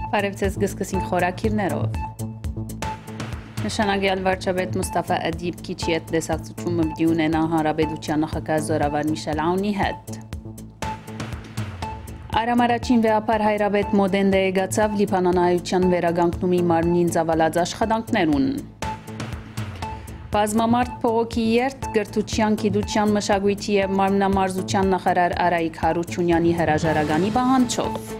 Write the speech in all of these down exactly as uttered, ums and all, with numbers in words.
Բարեւ ձեզ, կը սկսենք խորագիրներով։ Նշանակեալ վարչապետ Մուսթաֆա Ադիպ քիչ յետ տեսակցութիւն մը պիտի ունենայ հանրապետութեան նախագահ զօրավար Միշել Աունի հետ։ Արամ առաջին վեհափառ հայրապետ Մոդենտե եկացաւ Լիբանանահայութեան վերականգնումի մարմնին ծաւալած աշխատանքներուն։ Բազմամարդ բողոքի երթ կրթութեան, գիտութեան, մշակոյթի եւ մարմնամարզութեան նախարար Արայիկ Յարութիւնեանի հրաժարականի պահանջով։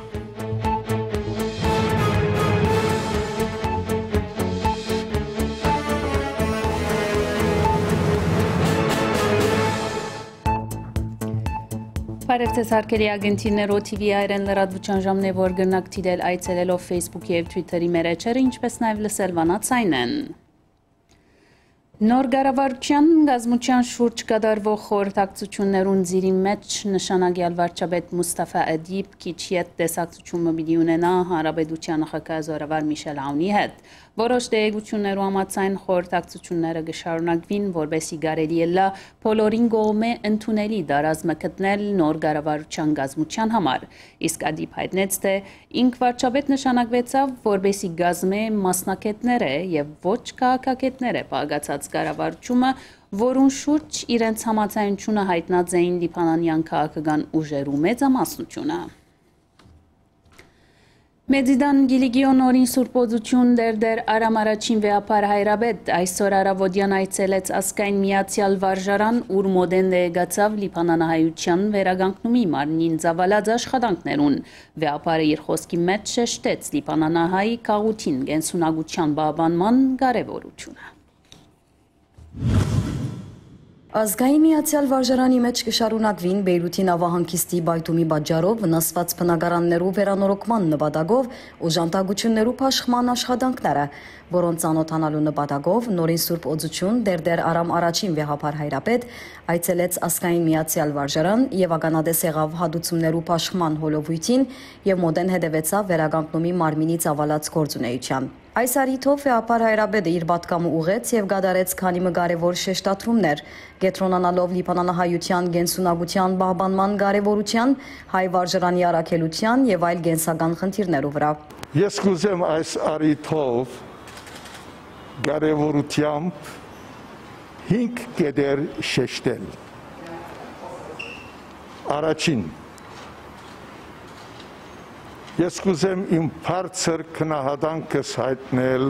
Բարեւ ձեզ, հարգելի ագնտիրներ, O T V հայերէն լրատուութեան ժամն է, որ կրնաք դիտել այցելելով Facebook-ի եւ Twitter-ի մեր էջերը, ինչպէս նաեւ լսել Վանաձայնէն։ Նոր կառավարութեան կազմութեան շուրջ կատարուող խորհրդակցութիւններուն ծիրի մէջ նշանակեալ վարչապետ Մուսթաֆա Ադիպ քիչ յետ տեսակցութիւն մը պիտի ունենայ հանրապետութեան նախագահ զօրավար Միշել Աունի հետ։ Որոշ տեղեկութիւններու համաձայն, խորհրդակցութիւնները կը շարունակուին, որպէսզի կարելի ըլլայ բոլորին կողմէ ընդունելի տարազ մը գտնել նոր կառավարութեան կազմութեան համար։ Իսկ Ադիպ յայտնեց, թէ ինք վարչապետ նշանակուեցաւ, որպէսզի կազմէ մասնագէտներէ եւ ոչ քաղաքագէտներէ բաղկացած կառավարութիւնը, որուն շուրջ իրենց համաձայնութիւնը յայտնած էին լիբանանեան քաղաքական ուժերու մեծամասնութիւնը։ Մեծիդան Կիլիկիոն նորին Սուրբ Օծութիւն Տերտեր Արամ առաջին վեհափառ հայրապետ այսօր առաւօտեան այցելեց Ազգային Միացեալ Վարժարան, ուր Մոդենտե եկացաւ Լիբանանահայութեան վերականգնումի մարմնին ծաւալած աշխատանքներուն։ Վեհափառը իր խօսքի մէջ շեշտեց լիբանանահայ գաղութին կենսունակութեան պահպանման կարեւորութիւնը։ Ազգային միացեալ վարժարանի մէջ կը շարունակուին Բեյրութի նաւահանգիստի պայթումի պատճառով վնասուած բնակարաններու վերանորոգման նպատակով օժանդակութիւններու բաշխման աշխատանքները, որոնց ծանօթանալու նպատակով նորին Սուրբ Օծութիւն Տերտեր Արամ առաջին վեհափառ հայրապետ այցելեց Ազգային միացեալ վարժարան եւ ականատես եղաւ հատուցումներու բաշխման հոլովոյթին եւ մօտէն հետեւեցաւ վերականգնումի մարմինի ծաւալած գործունէութեան։ Այս առիթով վեհափառ հայրապետը իր պատգամը ուղղեց եւ կատարեց քանի մը կարեւոր շեշտադրումներ, կեդրոնանալով լիբանանահայութեան կենսունակութեան պահպանման կարեւորութեան, հայ վարժարանի առաքելութեան եւ այլ կենսական խնդիրներու վրայ։ Ես կ'ուզեմ այս առիթով կարեւորութեամբ հինգ կետեր շեշտել։ Առաջին, ես կ'ուզեմ իմ բարձր գնահատանքս յայտնել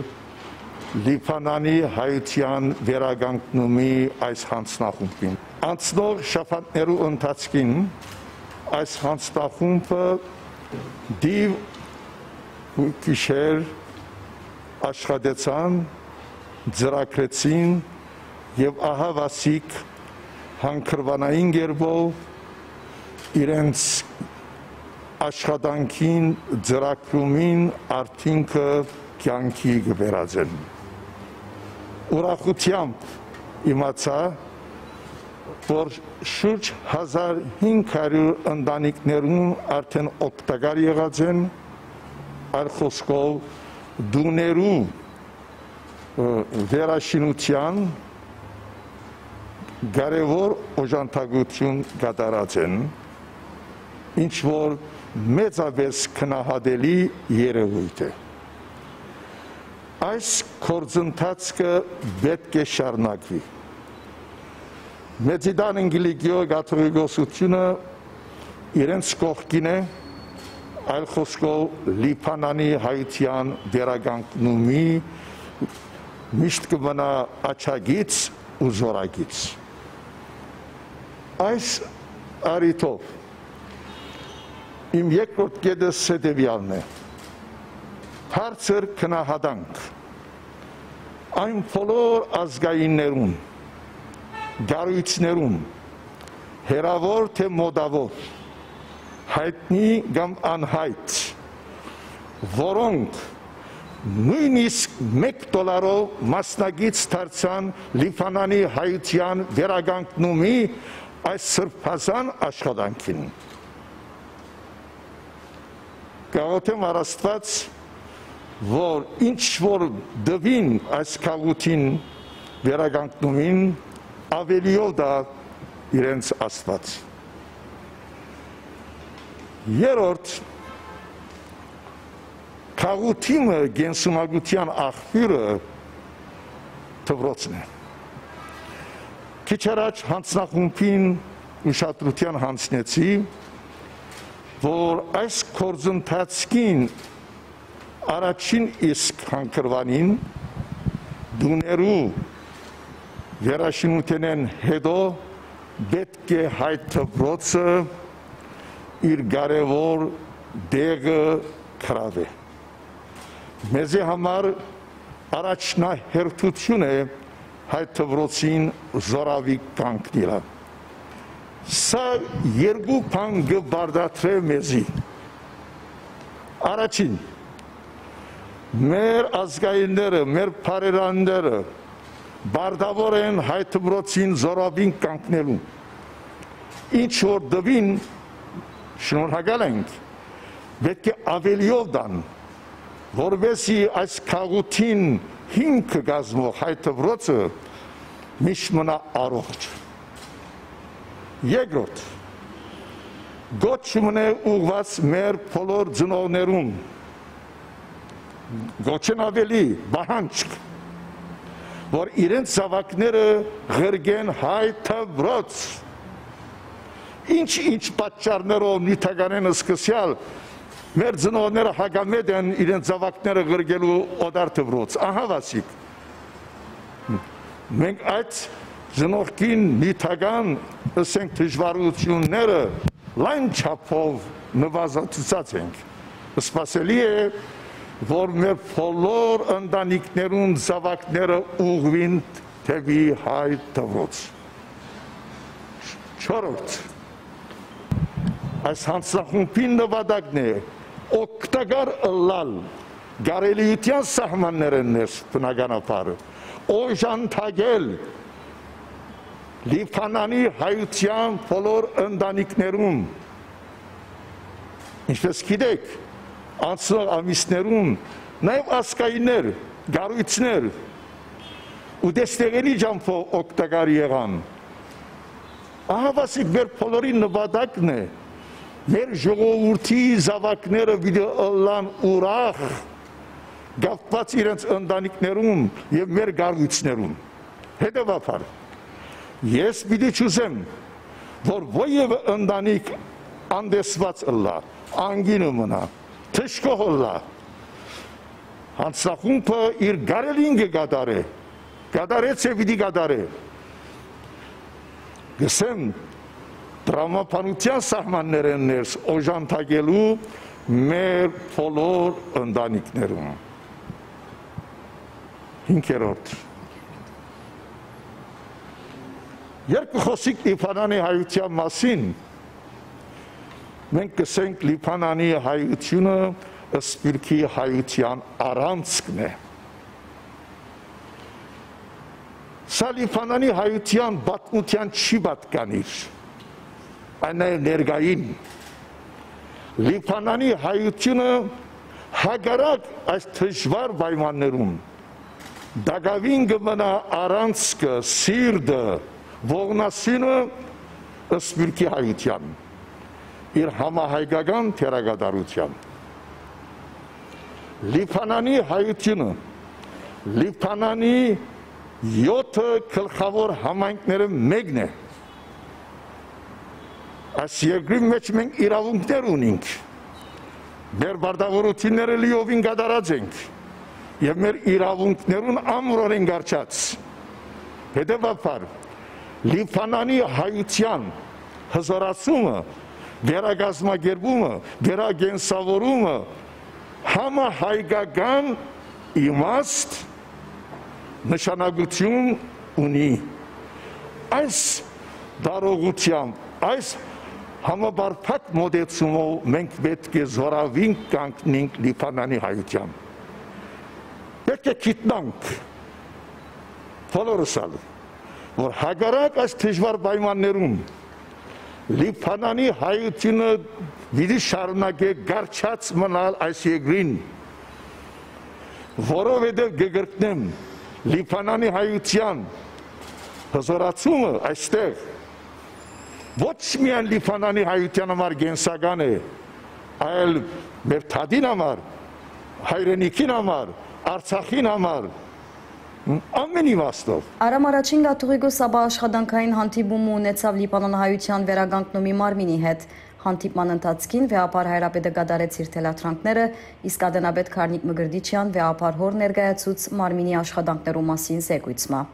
Լիբանանի հայութեան վերականգնումի այս յանձնախումբին։ Անցնող շաբաթներու ընթացքին այս յանձնախումբը դիւ ու գիշեր աշխատեցան, ծրագրեցին եւ ահաւասիկ հանգրուանային կերպով իրենց աշխատանքին, ծրագրումին արդիւնքը կեանքի կը վերածեն։ Ուրախութեամբ իմացայ, որ շուրջ հազար հինգ հարիւր ընտանիքներուն արդէն օգտակար եղած են, այլ խօսքով, տուներու, ը, վերաշինութեան կարեւոր օժանդակութիւն կատարած են, ինչ որ մեծապէս գնահատելի երեւոյթ է։ Այս գործընթացքը պէտք է շարունակուի։ Մեծիդան Կիլիկիոյ կաթողիկոսութիւնը իրենց կողքին է, այլ խօսքով, Լիբանանի հայութեան վերականգնումի միշտ կը մնայ աջակից ու զօրակից։ Այս առիթով իմ երկրորդ կետս հետեւեալն է. բարձր գնահատանք այն բոլոր ազգայիններուն, կառոյցներուն, հեռաւոր թէ մօտաւոր, յայտնի կամ անյայտ, որոնք նոյնիսկ մէկ դոլարով մասնակից դարձան Լիբանանի հայութեան վերականգնումի այս սրբազան աշխատանքին։ Կաղոթեմ առ Աստուած, որ ինչ որ տուին այս գաղութին վերականգնումին, աւելիով տայ իրենց Աստուած։ Երրորդ, գաղութի մը կենսունակութեան աղբիւրը դպրոցն է։ Քիչ առաջ յանձնախումբին ուշադրութեան յանձնեցի, որ այս գործընթացքին առաջին իսկ հանգրուանին տուներու վերաշինութենէն յետոյ պէտք է հայ դպրոցը իր կարեւոր տեղը գրաւէ։ Մեզի համար առաջնահերթութիւն է հայ դպրոցին զօրավի կանգնիլը։ Սա երկու բան կը պարտադրէ մեզի։ Առաջին, մեր ազգայինները, մեր բարերարները պարտաւոր են հայ դպրոցին զօրավին կանգնելու։ Ինչ որ տուին, շնորհակալ ենք, պէտք է աւելիով տան, որպեսզի այս գաղութին հիմքը կազմող հայ դպրոցը միշտ մնայ առողջ։ Երկրորդ, կոչ մնայ ուղղուած մեր բոլոր ծնողներուն, կոչէն աւելի պահանջք, որ իրենց զաւակները ղրկեն հայ դպրոց։ Ինչ-ինչ պատճառներով, նիւթականէն սկսեալ, մեր ծնողները հակամէտ են իրենց զաւակները ղրկելու օտար դպրոց։ Ահա վասիկ։ Մենք այդ ծնողքին նիւթական, ըսենք, դժվարութիւնները լայն չափով նուազացուցած ենք։ Սպասելի է, որ մեր բոլոր ընտանիքներուն զաւակները ուղղուին դէպի հայ դպրոց։ Չորրորդ, այս յանձնախումբին նպատակն է օգտակար ըլլալ կարելիութեան սահմաններէն ներս, բնականաբար, օժանդակել Լիբանանի հայութեան բոլոր ընտանիքներուն, ինչպես գիտէք, անցնող ամիսներուն նաեւ ազգայիններ, կառոյցներ ու դեստեղենի ճամբով օգտակար եղան։ Ահա վասիկ մեր բոլորին նպատակն է, մեր ժողովուրդի զաւակները պիտի ըլլան ուրախ, կապուած իրենց ընտանիքներուն եւ մեր կառոյցներուն։ Հետեւաբար, ես պիտի չուզեմ, որ ոեւէ ընտանիք անտեսուած ըլլայ, անկինը մնայ, դժգոհ ըլլայ։ Յանձնախումբը իր կարելին կը կատարէ, կատարեց եւ պիտի կատարէ, կ'ըսեմ, տրամաբանութեան սահմաններէն ներս օժանդակելու մեր բոլոր ընտանիքներուն։ Հինգերորդ։ Երբ կը խօսենք Լիբանանի հայութեան մասին, մենք կ'ըսենք, Լիբանանի հայութիւնը սփիւռքի հայութեան առանցքն է։ Սա Լիբանանի հայութեան պատմութեան չի պատկանիր, այն նաեւ ներկային։ Լիբանանի հայութիւնը հակառակ այս դժուար պայմաններուն տակաւին կը մնայ առանցքը, սիրտը, ողնասύνը սփիւռքի հայութեան, իր համահայկական դերակատարութեան։ Լիբանանի հայութիւնը Լիբանանի եօթը գլխաւոր համայնքներէն մէկն է։ Այս երկրին մէջ մենք իրաւունքներ ունինք։ Մեր պարտաւորութիւնները լիովին կատարած ենք եւ մեր իրաւունքներուն ամրորեն կառչած։ Հետեւաբար, Լիբանանի հայութեան հզորացումը, վերակազմակերպումը, վերակենսաւորումը համահայկական իմաստ, նշանակութիւն ունի։ Այս տարողութեամբ, այս համապարփակ մոտեցումով մենք պէտք է զօրավին կանգնենք Լիբանանի հայութեան։ Պէտք է գիտնանք, բոլորս ալ, որ հակառակ այս դժուար պայմաններուն, Լիբանանի հայութիւնը պիտի շարունակէ կառչած մնալ այս երկրին, որովհետեւ կը կրկնեմ, Լիբանանի հայութեան հզորացումը այստեղ ոչ միայն Լիբանանի հայութեան համար կենսական է, այլ մեր դատին համար, Հայրենիքին համար, Արցախին համար, ամէն իմաստով։ Արամ առաջին կաթողիկոս ապա աշխատանքային հանդիպում ունեցաւ Լիբանանահայութեան վերականգնումի մարմինի հետ։ Հանդիպման ընթացքին վեհափառ հայրապետը կատարեց իր թելադրանքները, իսկ ատենապետ Գառնիկ Մկրտիչեան վեհափառ հօր ներկայացուց մարմինի աշխատանքներու մասին զեկոյց մը։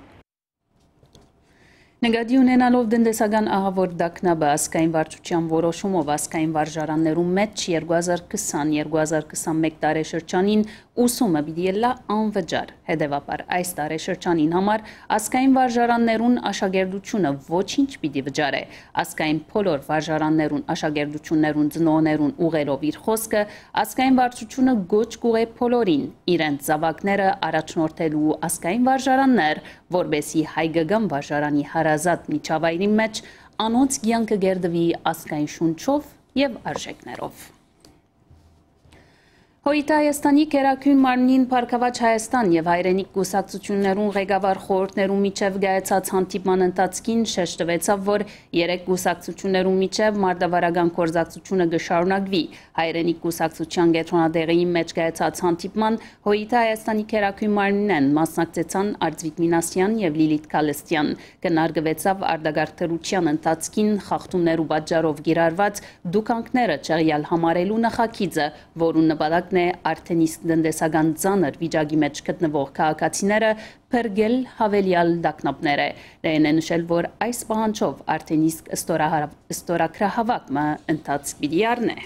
Նկատի ունենալով տնտեսական ահաւոր տագնապը, ազգային վարչութեան որոշումով ազգային վարժարաններուն մէջ երկու հազար քսան, երկու հազար քսանմէկ տարեշրջանին ուսումը պիտի ըլլայ անվճար։ Հետեւաբար, այս տարեշրջանին համար ազգային վարժարաններուն աշակերտությունը ոչինչ պիտի վճարէ։ Ազգային բոլոր վարժարաններուն աշակերտություններուն ծնողներուն ուղղելով իր խօսքը, ազգային վարչությունը կոչ կ'ուղղէ բոլորին իրենց զաւակները առաջնորդելու ազգային վարժարաններ, որպէսզի հայկական վարժարանի հարազատ միջավայրին մէջ անոնց կեանքը կերտուի ազգային շունչով եւ արժեքներով։ Հոյիտը Հայաստանի Գերագույն մարմնին Բարգաւաճ Հայաստան եւ Հայրենիք կուսակցութիւններուն ղեկավար խորհուրդներու միջեւ կայացած հանդիպման ընթացքին շեշտուեցաւ, որ երեք կուսակցութիւններուն միջեւ մարտավարական գործակցութիւնը կը շարունակուի։ Հայրենիք կուսակցութեան կեդրոնատեղիին մէջ կայացած հանդիպման Հոյիտը Հայաստանի Գերագույն մարմինէն մասնակցեցան Արծվիկ Մինասեան եւ Լիլիթ Գալստեան։ Քննարկուեցաւ արտակարգ դրութեան ընթացքին խախտումներու պատճառով կիրառուած դուքանքները չեղեալ համարելու նախագիծը, որուն նպատակն է արդէն իսկ տնտեսական ծանր վիճակի մէջ գտնուող քաղաքացիները փրկել յաւելեալ տագնապները։ Լեհեն է նշել, որ այս պահանջով արդէն իսկ ստորահարա-, ստորագրահաւաք մը ընթացք պիտի առնէ։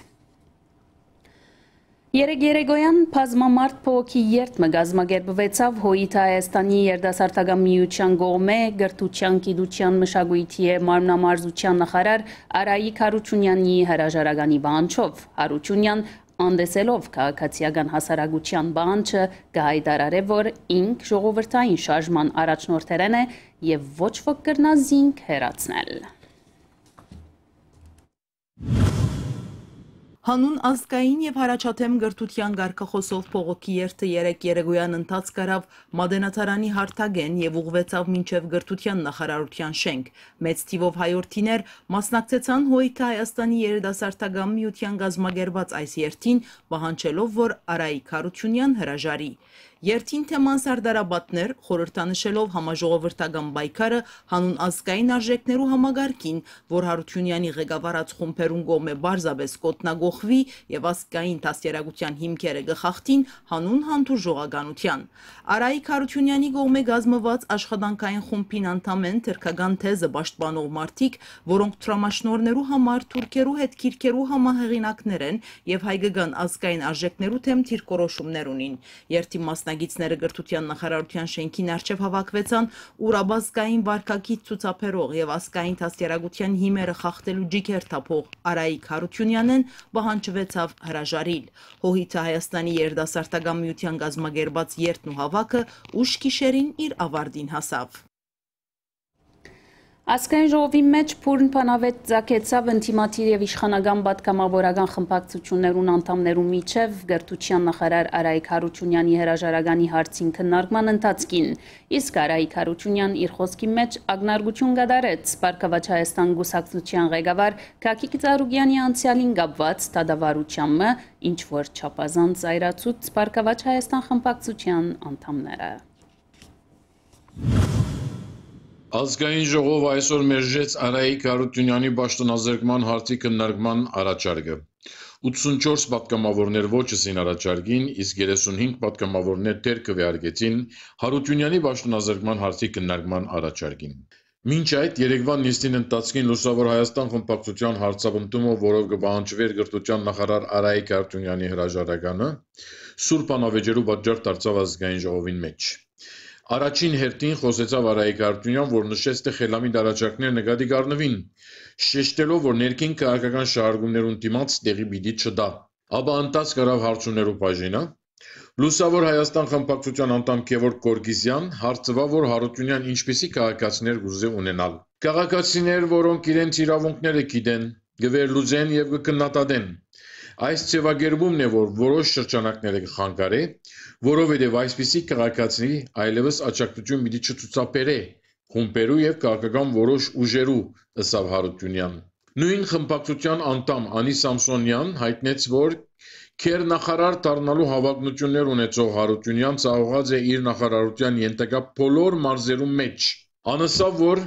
Երեկ երեկոյան բազմամարդ բողոքի երթ մը կազմակերպուեցաւ Հոյիտը Հայաստանի երիտասարդական միութեան կողմէ կրթութեան, գիտութեան, մշակոյթի եւ մարմնամարզութեան նախարար Արայիկ Յարութիւնեանի հրաժարականի պահանջով։ Յարութիւնեան անտեսելով քաղաքացիական հասարակութեան պահանջը, կը յայտարարէ, որ ինք ժողովրդային շարժման առաջնորդներէն է եւ ոչ ոք կրնայ զինք հեռացնել։ Հանուն ազգային եւ յառաջադէմ կրթութեան կարգախօսով բողոքի երթը երեկ երեկոյան ընթացք առաւ Մատենադարանի հարթակէն եւ ուղղուեցաւ մինչեւ կրթութեան նախարարութեան շենք։ Մեծ թիւով հայորդիներ մասնակցեցան Հոյիտը Հայաստանի երիտասարդական միութեան կազմակերպած այս երթին, պահանջելով, որ Արայիկ Յարութիւնեան հրաժարի։ Երթին թեման սարդարապատն էր, խորհրդանշելով համաժողովրդական պայքարը հանուն ազգային արժեքներու համակարգին, որ Յարութիւնեանի ղեկավարած խումբերուն կողմէ պարզապէս կ'օդնակոխուի եւ ազգային դաստիարակութեան հիմքերը կը խախտին հանուն հանդուրժողականութեան։ Արայիկ Յարութիւնեանի կողմէ կազմուած աշխատանքային խումբին անդամ են թրքական թեզը պաշտպանող մարդիկ, որոնք թրամաշնորհներու համար թուրքերու հետ քիրքերու համահեղինակներ են եւ հայկական ազգային արժեքներու դէմ դիրքորոշումներ ունին։ Երթի մասնակիցները կրթութեան նախարարութեան շենքին առջեւ հաւաքուեցան, ուր աբազգային վարքագիծ ցուցաբերող եւ ազգային դաստիարակութեան հիմերը խախտելու ջիգեր թափող Արայիկ Յարութիւնեանէն պահանջուեցաւ հրաժարիլ։ Հոհիթը Հայաստանի երիտասարդական միութեան կազմակերպած երթն ու հաւաքը ուշ գիշերին իր ավարտին հասաւ։ Ազգային ժողովին մէջ բուռն բանավեճ ծագեցաւ ընդդիմադիր եւ իշխանական պատգամավորական խմբակցութիւններուն անդամներու միջեւ կրթութեան նախարար Արայիկ Յարութիւնեանի հրաժարականի հարցին քննարկման ընթացքին, իսկ Արայիկ Յարութիւնեան իր խօսքին մէջ ակնարկութիւն կատարեց Բարգաւաճ Հայաստան կուսակցութեան ղեկավար Գագիկ Ծառուկեանի անցեալին կապուած դատավարութեան մը, ինչ որ չափազանց զայրացուց Բարգաւաճ Հայաստան խմբակցութեան անդամները։ Ազգային ժողովը այսօր մերժեց Արայիկ Յարութիւնեանի պաշտոնազրկման հարցի քննարկման առաջարկը։ Ութսունչորս պատգամավորներ ոչ ըսին առաջարկին, իսկ երեսունհինգ պատգամավորներ դեռ քուէարկեցին Յարութիւնեանի պաշտոնազրկման հարցի քննարկման առաջարկին։ Մինչ այդ, երեկվա նիստին ընթացքին Լուսաւոր Հայաստան խմբակցութեան հարցապնդումով, որով կը պահանջուէր կրթութեան նախարար Արայիկ Յարութիւնեանի հրաժարականը, սուր բանավեճերու պատճառ դարձաւ ազգային ժողովին մէջ։ Առաջին հերթին խօսեցաւ Արայիկ Յարութիւնեան, որ նշեց, թէ խելամիտ առաջարկներ նկատի կ'առնուին, շեշտելով, որ ներքին քաղաքական շարժումներուն դիմաց տեղի պիտի չտայ։ Ապա ընթացք առաւ հարցումներու բաժինը։ Լուսաւոր Հայաստան խմբակցութեան անդամ Գեւորգ Գորգիզեան հարցուաւ, որ Յարութիւնեան ինչպիսի քաղաքացիներ կ'ուզէ ունենալ։ Քաղաքացիներ, որոնք իրենց իրաւունքները գիտեն, կը վերլուծեն եւ կը քննադատեն։ Այս ձեւակերպումն է, որ որոշ շրջանակները կը խանգարէ, որովհետեւ այսպիսի քաղաքացի այլեւս աջակցութիւն պիտի չցուցաբերէ խումբերու եւ քաղաքական որոշ ուժերու, ըսաւ Յարութիւնեան։ Նոյն խմբակցութեան անդամ Անի Սամսոնեան յայտնեց, որ քերնախարար դառնալու յաւակնութիւններ ունեցող Յարութիւնեան ծաւղած է իր նախարարութեան ենթակայ բոլոր մարզերուն մէջ։ Ան ըսաւ, որ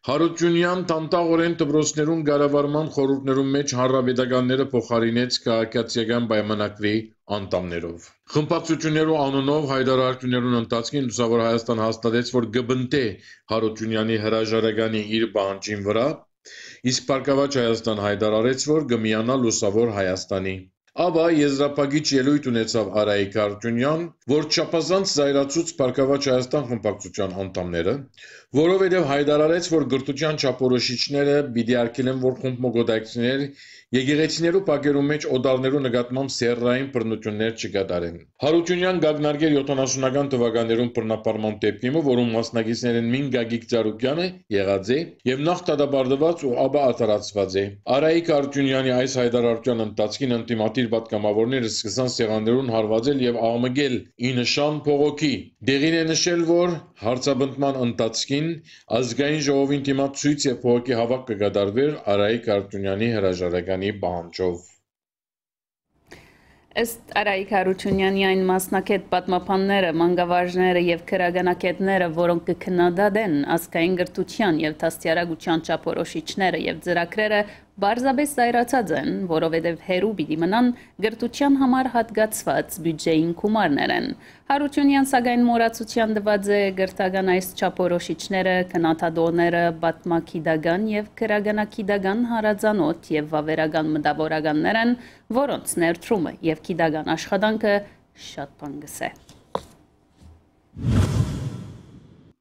Յարութիւնեան դանդաղօրէն դպրոցներուն կառավարման խորհուրդներուն մէջ հանրապետականները փոխարինեց քաղաքացիական պայմանագրի անդամներով։ Խմբակցութիւններու անունով յայտարարութիւններուն ընթացքին Լուսաւոր Հայաստան հաստատեց, որ կը պնդէ Յարութիւնեանի հրաժարականի իր պահանջին վրայ, իսկ Բարգաւաճ Հայաստան յայտարարեց, որ կը միանայ Լուսաւոր Հայաստանի։ Ապա եզրափակիչ ելոյթ ունեցաւ Արայիկ Յարութիւնեան, որ չափազանց զայրացուց Բարգաւաճ Հայաստան խմբակցութեան անդամները, որովհետեւ յայտարարեց, որ կրթութեան չափորոշիչները պիտի արգելեն, որ խումբ մը կուտակցիներ եկեղեցիներու բակերուն մէջ օտարներու նկատմամբ սեռային բռնութիւններ չկատարեն։ Յարութիւնեան կ'ակնարկէր յոթանասունական թուականներուն բռնապարման դեպքի մը, որուն մասնակիցներէն մին Գագիկ Ծառուկեանը եղած է եւ նախ դատապարտուած ու ապա արդարացուած է։ Արայիկ Յարութիւնեանի այս յայտարարութեան ընթացքին ընդդիմադիր պատգամաւորները սկսան սեղաններուն հարուածել եւ աղմկել ի նշան բողոքի։ Տեղին է նշել, որ հարցապնդման ընթացքին Ազգային ժողովին դիմաց ցոյց եւ բողոքի հաւաք կը կատարուէր Արայիկ Յարութիւնեանի հրաժարականի պահանջով։ Ըստ Արայիկ Յարութիւնեանի, այն մասնագէտ պատմաբանները, մանկավարժները եւ քրագանակետները, որոնք կը քննադատեն ազգային կրթութեան եւ դաստիարակութեան չափորոշիչները եւ ծրագրերը, պարզապէս զայրացած են, որովհետեւ հեռու պիտի մնան կրթութեան համար յատկացուած բիւջէին գումարներէն։ Յարութիւնեան, սակայն, մոռացութեան տուած է կրթական այս չափորոշիչները, քննադատողները, պատմագիտական եւ քրագանակիտական հարազանոթ եւ վաւերական մտաւորականներ են, որոնց ներդրումը եւ գիտական աշխատանքը շատ բան կ'ըսէ։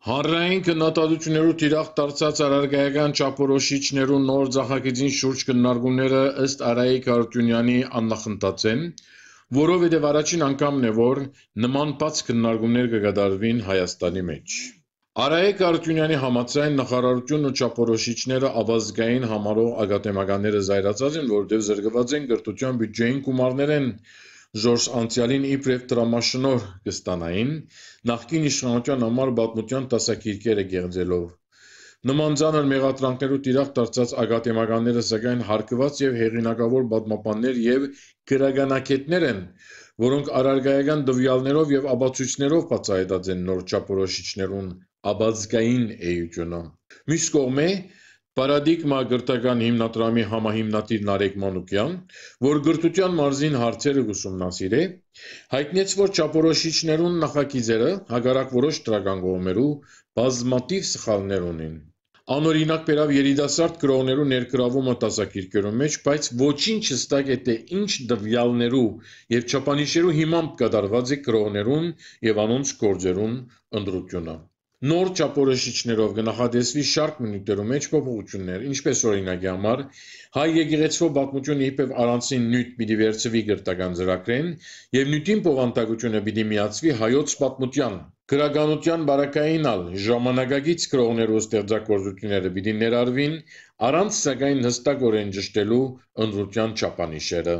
Հանրային քննադատութիւններու թիրախ դարձած առարկայական չափորոշիչներու նոր ծախագիծին շուրջ քննարկումները, ըստ Արայիկ Յարութիւնեանի, աննախընթաց են, որովհետեւ առաջին անգամն է, որ նման բաց քննարկումներ կը կատարուին Հայաստանի մէջ։ Արայիկ Յարութիւնեանի համաձայն, նախարարութիւնն ու չափորոշիչները աւազգային համարող ակադեմականները զայրացած են, որովհետեւ զրկուած են կրթութեան բիւջէին գումարներէն, զորս անցեալին իբրեւ դրամաշնորհ կը ստանային, նախկին իշխանութեան համար պատմութեան դասագիրքերը կեղծելով։ Նման ծանր մեղադրանքներու թիրախ դարձած ակադեմականները, սակայն, հարգուած եւ հեղինակաւոր պատմաբաններ եւ քրագանակետներ են, որոնք առարկայական տուեալներով եւ ապացոյցներով բացայայտած են նոր չափորոշիչներուն աբազգային էությունը։ Միւս կողմէ, Պարադիգմա կրթական հիմնադրամի համահիմնադիր Նարեկ Մանուկեան, որ կրթութեան մարզին հարցերը կ'ուսումնասիրէ, յայտնեց, որ չափորոշիչներուն նախագիծերը, հակառակ որոշ դրական կողմերու, բազմաթիւ սխալներ ունին։ Անօրինակ բերաւ երիտասարդ գրողներու ներգրավումը դասագիրքերուն մէջ, բայց ոչինչ հստակ է, թէ ինչ տուեալներու եւ չափանիշերու հիմամբ կատարուած է գրողներուն եւ անոնց գործերուն ընտրութիւնը։ Նոր չափորոշիչներով կը նախատեսուի շարք մը նիւթերու մէջ փոփոխութիւններ, ինչպես, օրինակի համար, հայ եկեղեցւոյ պատմութիւնը իբրեւ առանձին նիւթ պիտի վերցուի կրթական ծրագրէն եւ նիւթին բովանդակութիւնը պիտի միացուի հայոց պատմութեան։ Գրականութեան պարագային ալ ժամանակակից գրողներու ստեղծագործութիւնները պիտի ներառուին, առանց, սակայն, հստակօրէն ճշդելու ընտրութեան չափանիշերը։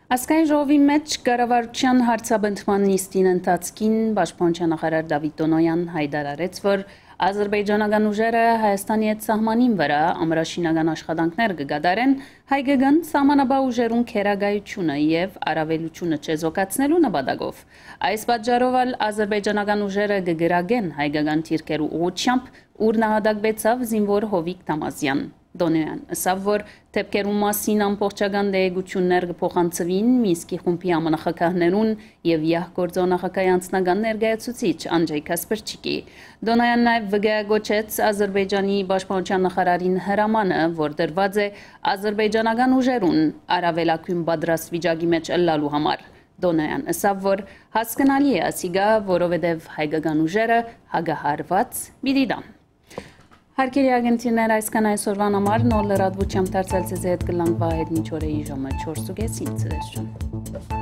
Ազգային ժողովի մէջ կառավարութեան հարցապնդման նիստին ընթացքին պաշտպանութեան նախարար Դավիթ Տոնոյան յայտարարեց, որ ազրպէյճանական ուժերը Հայաստանի հետ սահմանին վրայ ամրաշինական աշխատանքներ կը կատարեն հայկական սահմանապահ ուժերուն գերակայութիւնը եւ առավելութիւնը չեզոքացնելու նպատակով։ Այս պատճառով ալ ազրպէյճանական ուժերը կը կրակեն հայկական դիրքերու ուղղութեամբ, ուր նահատակուեցաւ զինուոր Հովիկ Թամազեան։ Տոնոյան ըսաւ, որ դէպքերուն մասին ամբողջական տեղեկութիւններ կը փոխանցուին Մինսկի խումբի համանախագահներուն եւ յահ գործող նախագահի անձնական ներկայացուցիչ Անջեյ Քասպրչիկի։ Տոնոյան նաեւ վկայակոչեց Ազրպէյճանի պաշտպանութեան նախարարին հրամանը, որ տրուած է ազրպէյճանական ուժերուն առավելագոյն պատրաստվիճակի մէջ ըլլալու համար։ Տոնոյան ըսաւ, որ հասկնալի է ասիկա, որովհետեւ հայկական ուժերը հակահարուած պիտի տան։ Հարգելի ագնտիրներ, այսքան այսօրվան համար, նոր լրատվութեամբ դարձյալ ձեզի հետ կ'ըլլանք Վահետ մինչ օրը, ժամը չորս ու կեսին, ցտեսություն։